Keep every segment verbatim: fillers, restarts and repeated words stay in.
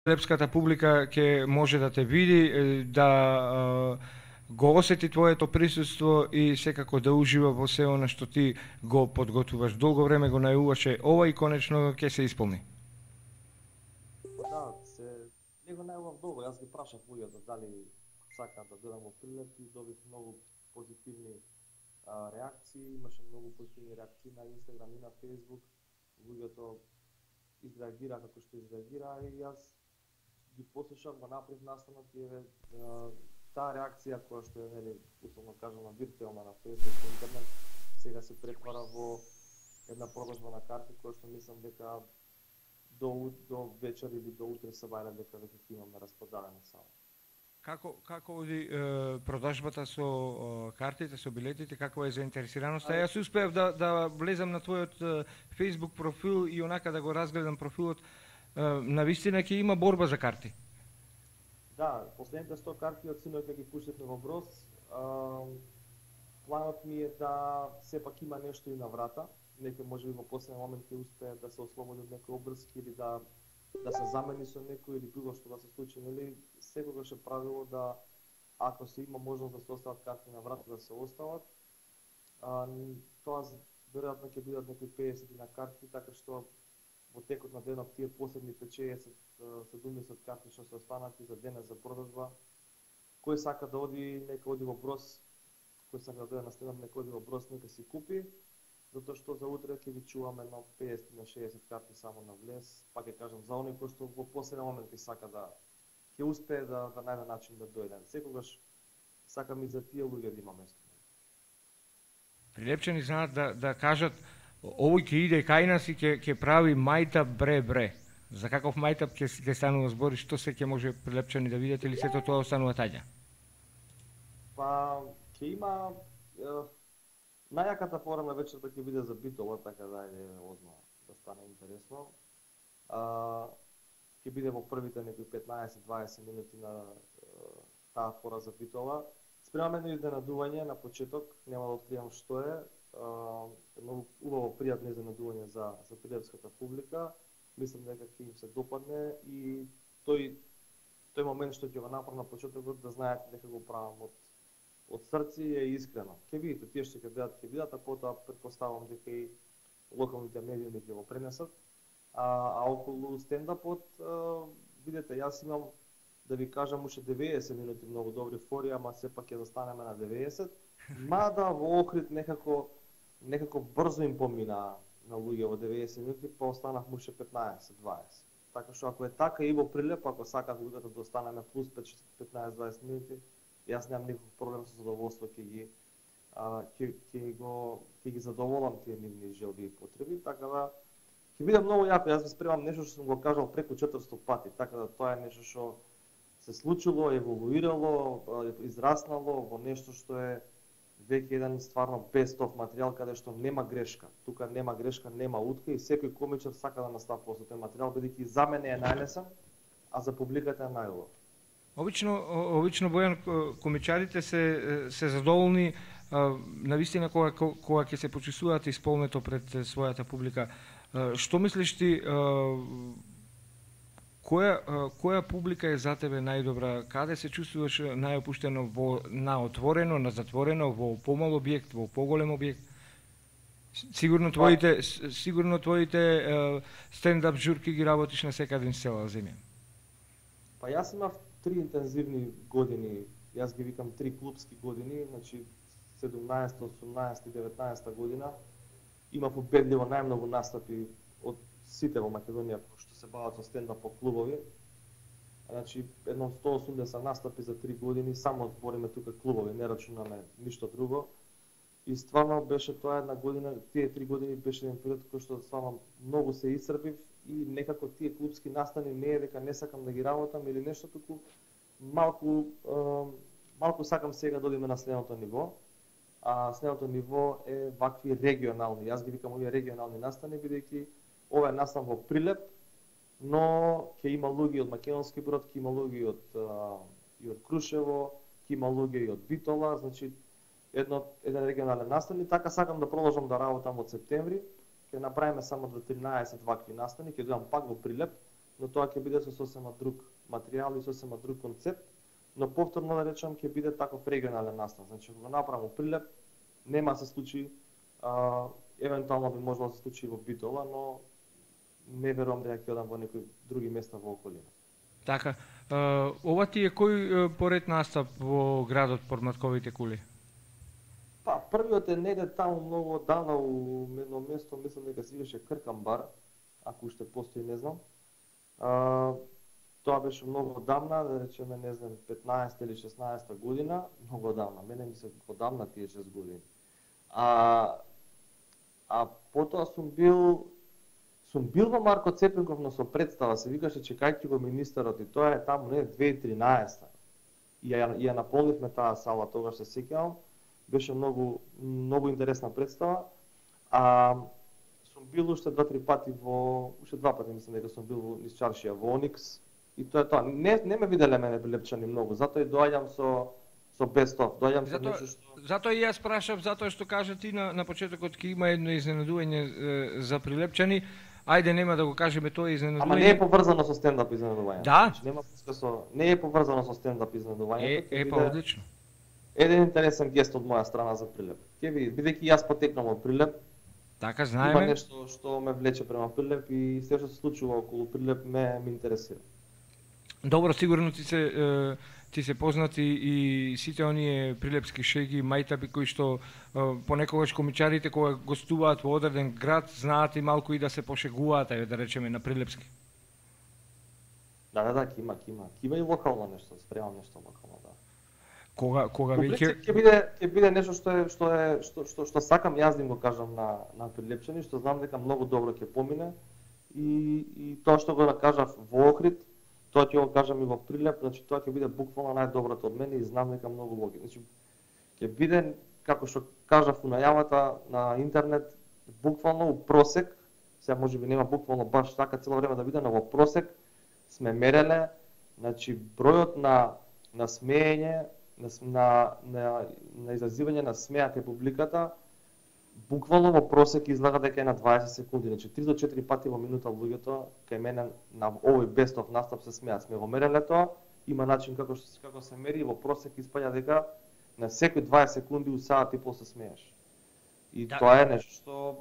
Прилепската публика ќе може да те види, да го осети твоето присуство и секако да ужива во се она што ти го подготвуваш. Долго време го најуваше ова и конечно ќе се исполни. Да, се не го најував долго. Јас ги прашав луѓето дали сакаат да дојдам во Прилеп и добив многу позитивни а, реакции, имаше многу позитивни реакции на Инстаграм и на Фејсбук. Луѓето изреагира како што изреагира и јас ги послушав, го направив настанок и еве таа реакција која што е, нели, условно кажано виртуелна на Facebook и интернет, сега се претвара во една продажба на карти која што мислам дека до до вечер или до утре сабајле дека веќе ќе имаме распродадени само. Како како оди е, продажбата со е, картите, со билетите, каква е заинтересираноста? Јас успеав да да влезам на твојот е, Facebook профил и онака да го разгледам профилот. Е, навистина ќе има борба за карти. Да, последните сто карти од синоќ ќе ги пуштевме во Броз. Планот ми е да сепак има нешто и на врата. Некој можеби во последен момент ќе успее да се ослободи од некој обврски или да да се замени со некој или било што да се случи, нели? Секогаш е правило да ако се има можност да се остават карти на врата, да се остават. А, тоа веројатно ќе бидат некои педесет на карти, така што во текот на денот тие последните шеесет седумдесет карти што се останати за денес за продажба. Кој сака да оди, нека оди во Броз. Кој сака да дојде на стендап, нека оди во Броз, нека си купи. Затоа што за утре ќе ги чуваме едно педесет на шеесет карти само на влез. Пак ќе кажам за оној кој што во последен момент ќе сака да ќе успее да да најде начин да дојде. Секогаш сакам и за тие луѓе да има место. Прилепчани знаат да да кажат овој ќе иде кај нас и ќе ќе прави мајтап бре бре. За каков мајтап ќе ќе станува збор и што се ќе може прилепчани да видат или сето тоа останува таѓа? Па ќе има е, најаката фора на вечерта ќе биде за битола, така да е одма да стане интересно. А, ќе биде во првите некои петнаесет дваесет минути на е, таа фора за битола. Спремаме едно изненадување на почеток, нема да откријам што е. Едно убаво пријатно изненадување за за прилепската публика. Мислам дека ќе им се допадне и тој тој момент што ќе го направам на почетокот да знаете дека го правам од од срце и е искрено. Ќе видите тие што ќе бидат, ќе бидат, а потоа претпоставувам дека и локалните медиуми ќе го пренесат. А, а околу стендапот, видете, јас имам да ви кажам уште деветдесет минути многу добри фори, ама сепак ќе застанеме на деветдесет. Мада во Охрид некако некако брзо им помина на луѓе во деветдесет минути, па останав уште петнаесет дваесет. Така што ако е така и во Прилеп, ако сакат луѓето да останеме плюс петнаесет дваесет минути, јас немам никаков проблем, со задоволство ќе ги а, ќе ќе го ќе ги задоволам тие нивни желби и потреби, така да ќе биде многу јако. Јас ви спремам нешто што сум го кажал преку четиристотини пати, така да тоа е нешто што се случило, еволуирало, израснало во нешто што е веќе еден стварно бестов материјал каде што нема грешка. Тука нема грешка, нема утка и секој комичар сака да наставува со тој материјал, бидејќи за мене е најлесен, а за публиката е најубав. Обично, обично Бојан, комичарите се се задоволни навистина кога кога ќе се почувствуваат исполнето пред својата публика. Што мислиш ти, која која публика е за тебе најдобра? Каде се чувствуваш најопуштено, во на отворено, на затворено, во помал објект, во поголем објект? Сигурно твоите сигурно твоите стендап журки ги работиш на секаде низ цела земја. Па јас имав три интензивни години, јас ги викам три клубски години, значи седумнаесета, осумнаесета и деветнаесета година. Имав убедливо најмногу настапи од сите во Македонија што се бават со стендап по клубови. Значи едно сто и осумдесет настапи за три години, само збориме тука клубови, не рачунаме ништо друго. И стварно беше тоа една година, тие три години беше еден период кој што стварно многу се исцрпив и некако тие клубски настани не е дека не сакам да ги работам или нешто, туку малку е, малку сакам сега да одиме на следното ниво. А следното ниво е вакви регионални. Јас ги викам овие регионални настани, бидејќи ова е настан во Прилеп, но ќе има луѓе од Македонски Брод, ќе има луѓе од и од Крушево, ќе има луѓе и од Битола, значи едно еден регионален настан и така сакам да продолжам да работам од септември. Ќе направиме само до тринаесет вакви настани, ќе дојдам пак во Прилеп, но тоа ќе биде со сосема друг материјал и сосема друг концепт, но повторно да речам ќе биде таков регионален настан. Значи кога направам Прилеп, нема да се случи, а, евентуално би можело да се случи во Битола, но не верувам дека ќе одам во некои други места во околина. Така, uh, ова ти е кој uh, поред настап во градот Подматковите кули? Па, првиот е неде таму многу оддавна у едно место, мислам дека се викаше Кркамбар, ако уште постои, не знам. А, тоа беше многу оддавна, да речеме, не знам, петнаесета или шеснаесета година, многу оддавна, мене ми се оддавна тие шест години. А, а потоа сум бил Сум бил во Марко Цепенков, но со представа, се викаше Чекајќи го министерот, и тоа е таму не две илјади и тринаесета. И ја, ја наполнивме таа сала, тогаш се сеќавам. Беше многу многу интересна представа. А сум бил уште два-три пати во уште два пати мислам дека сум бил во низ чаршија во Оникс, и тоа е тоа. Не не ме виделе мене прилепчани многу, затоа и доаѓам со со бестов, доаѓам со нешто што Затоа и јас прашав, затоа што кажа ти на на почетокот ќе има едно изненадување е, за прилепчани. Ајде, нема да го кажеме тоа изненадување. Ама не е поврзано со стендап изненадување. Да? Значи, нема врска со не е поврзано со стендап изненадување. Е, е па одлично. Еден интересен гест од моја страна за Прилеп. Ќе види, бидејќи јас потекнам од Прилеп, така има знаеме. нешто што ме влече према Прилеп и се што се случува околу Прилеп ме ме интересира. Добро, сигурно ти се е, ти се познати и сите оние прилепски шеги, мајтаби кои што е, понекогаш комичарите кога гостуваат во одреден град знаат и малку и да се пошегуваат, ајде да речеме на прилепски. Да, да, да, ќе има, ќе има. Ќе има и локално нешто, спремам нешто локално, да. Кога кога По веќе принцип ќе биде ќе биде нешто што е што е што што што сакам јас да им го кажам на на прилепчани, што знам дека многу добро ќе помине, и и тоа што го кажав во Охрид, тоа ќе го кажам и во Прилеп, значи тоа ќе биде буквално најдоброто од мене и знам дека многу логи. Значи ќе биде, како што кажав у најавата на интернет, буквално у просек, сега можеби нема буквално баш така цело време да биде, но во просек сме мереле, значи бројот на на смеење, на на на, на изазивање на смеа кај публиката, буквално во просек излага дека е на дваесет секунди, значи три до четири пати во минута луѓето кај мене на овој бестов настап се смеат. Сме го мереле тоа, има начин како што како се мери, во просек испаѓа дека на секој дваесет секунди у саат и пол се смееш. И да. Тоа е нешто што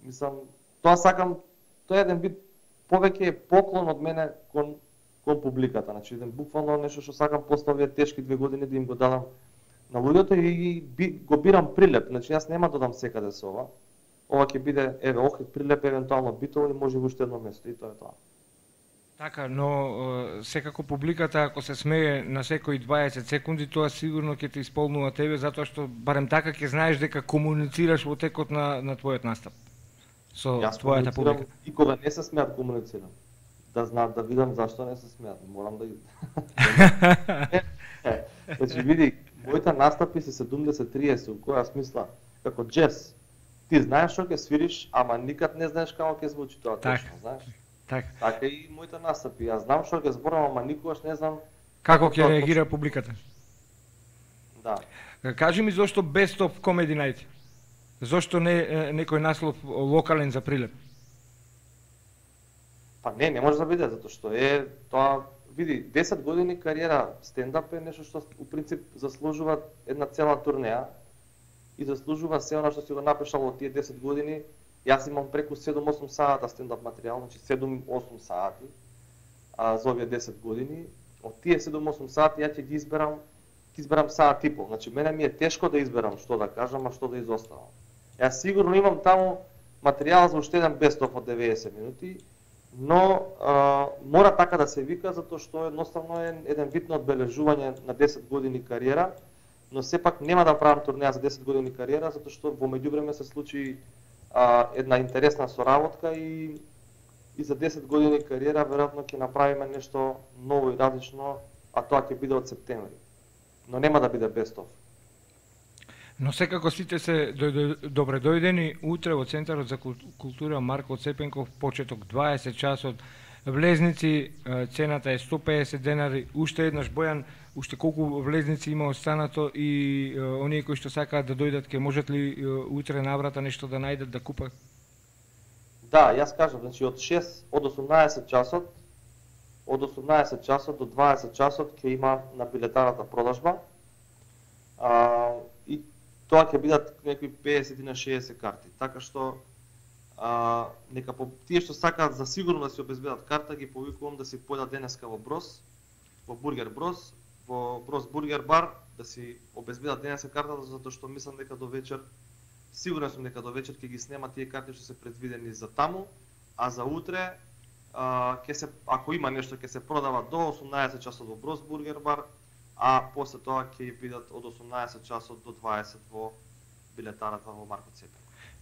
мислам, тоа сакам, тоа е еден вид повеќе е поклон од мене кон кон публиката, значи еден буквално нешто што сакам после овие тешки две години да им го дадам на луѓето и би, го бирам Прилеп, значи јас нема да додам секаде со ова. Ова ќе биде еве Охрид, Прилеп, евентуално Битола и може уште едно место и тоа е тоа. Така, но е, секако публиката ако се смее на секои дваесет секунди, тоа сигурно ќе те исполнува тебе затоа што барем така ќе знаеш дека комуницираш во текот на на твојот настап со јас твојата публика. И кога не се смеат комуницирам. Да знаат, да видам зашто не се смеат. Морам да ги Значи види, моите настапи се седумдесет триесет, у која смисла како джез. Ти знаеш што ќе свириш, ама никад не знаеш како ќе звучи тоа точно, знаеш? Така. Така и моите настапи. Јас знам што ќе зборам, ама никогаш не знам како ќе реагира публиката. Да. Кажи ми зошто Best of Comedy Night? Зошто не некој наслов локален за Прилеп? Па не, не може да биде, затоа што е тоа, види, десет години кариера стендап е нешто што у принцип заслужува една цела турнеја и заслужува се она што си го напишал во тие десет години. Јас имам преку седум-осум сата стендап материјал, значи седум-осум сати а, за овие десет години. Од тие седум-осум сати ја ќе ги изберам, ќе изберам саат и пол. Значи мене ми е тешко да изберам што да кажам, а што да изоставам. Јас сигурно имам таму материјал за уште еден best of од деветдесет минути, но а, мора така да се вика затоа што едноставно е еден вид на одбележување на десет години кариера, но сепак нема да правам турнеја за десет години кариера затоа што во меѓувреме се случи а, една интересна соработка и и за десет години кариера веројатно ќе направиме нешто ново и различно, а тоа ќе биде од септември. Но нема да биде best of. Но секако сите се добре дојдени утре во Центарот за култура Марко Цепенков, почеток дваесет часот, влезници, цената е сто педесет денари, уште еднаш Бојан, уште колку влезници има останато и е, оние кои што сакаат да дојдат, ќе можат ли е, утре наврата нешто да најдат да купат? Да, јас кажам, значи од шест од осумнаесет часот од осумнаесет часот до дваесет часот ќе има на билетарната продажба. А, и тоа ќе бидат некои педесет на шеесет карти. Така што а, нека по тие што сакаат за сигурно да си обезбедат карта, ги повикувам да си појдат денеска во Брос, во Бургер Брос, во Брос Бургер бар, да си обезбедат денеска картата, затоа што мислам дека до вечер, сигурен сум дека до вечер ќе ги снема тие карти што се предвидени за таму, а за утре а, ќе се, ако има нешто, ќе се продава до осумнаесет часот во Брос Бургер бар, а после тоа ќе бидат од осумнаесет часот до дваесет во билетарата во Марко Цепенко.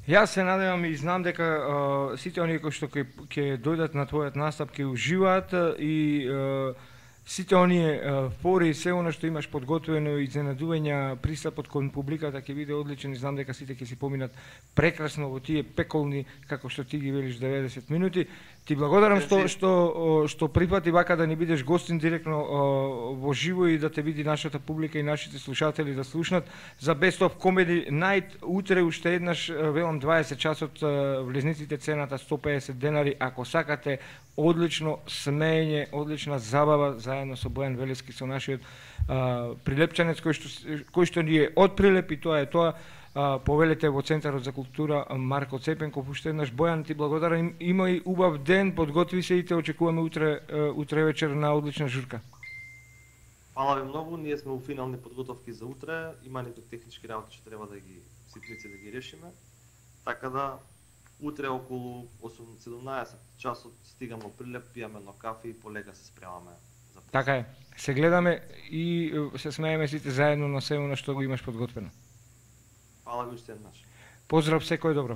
Јас се надевам и знам дека а, сите оние кои што ќе дојдат на твојот настап ќе уживаат и а, сите оние фори и се она што имаш подготвено и изненадувања, пристапот кон публиката ќе биде одличен и знам дека сите ќе си поминат прекрасно во тие пеколни, како што ти ги велиш, деветдесет минути. Ти благодарам што што што припати вака да ни бидеш гостин директно во живо и да те види нашата публика и нашите слушатели да слушнат за Best of Comedy Night. Утре уште еднаш велам дваесет часот, влезниците цената сто педесет денари. Ако сакате одлично смеење, одлична забава заедно со Бојан Велески, со нашиот а, прилепчанец кој што кој што ни е од Прилеп, и тоа е тоа. Uh, повелете во Центарот за култура Марко Цепенков. Уште еднаш, Бојан, ти благодарам. Имај убав ден, подготви се и те очекуваме утре, uh, утре вечер на одлична журка. Фала ви многу, ние сме во финални подготовки за утре, има некои технички работи што треба да ги ситници да ги решиме. Така да утре околу седумнаесет часот стигам во Прилеп, пијаме едно кафе и полека се спремаме за посет. Така е. Се гледаме и се смееме сите заедно на се она што го имаш подготвено. Фала ви уште еднаш. Поздрав, секој добро.